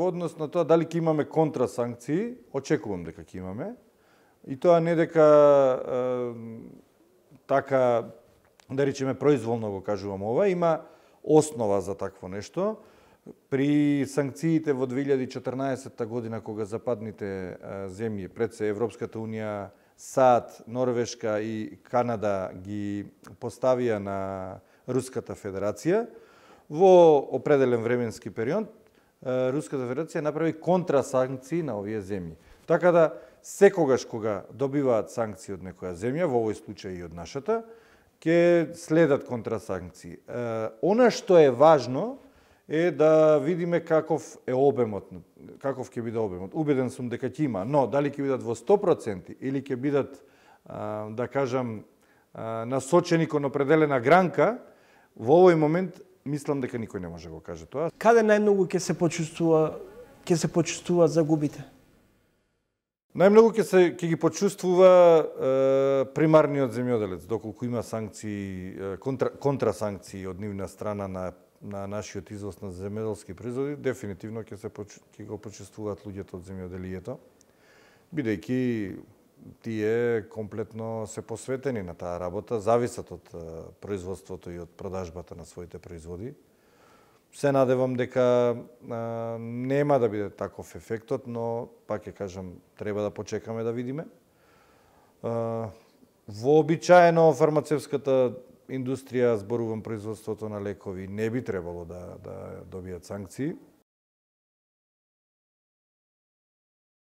во однос на тоа дали ќе имаме контрасанкции, очекувам дека ќе имаме. И тоа не дека така, да речеме, произволно го кажувам ова, има основа за такво нешто. При санкциите во 2014 година, кога западните земји, пред се Европската Унија, САД, Норвешка и Канада ги поставија на Руската Федерација, во определен временски период, Руската Федерација направи контрасанкции на овие земји. Така да, секогаш кога добиваат санкции од некоја земја, во овој случај и од нашата, ќе следат контрасанкции. Она што е важно е да видиме каков е обемот, каков ќе биде обемот. Убеден сум дека ќе има, но дали ќе бидат во 100% или ќе бидат, да кажам, насочени кон определена гранка, во овој момент мислам дека никој не може да го каже тоа. Каде најмногу ќе се почувствува загубите? Најмногу ќе ги почувствува примарниот земјоделец, доколку има санкции, контрасанкции од нивна страна на нашиот извоз на земјоделски производи, дефинитивно ќе го почувствуваат луѓето од земјоделието, бидејќи тие комплетно се посветени на таа работа, зависат од производството и од продажбата на своите производи. Се надевам дека нема да биде таков ефектот, но пак ќе кажам, треба да почекаме да видиме. Вообичаено фармацевската индустрија, зборувам производството на лекови, не би требало да добијат санкции.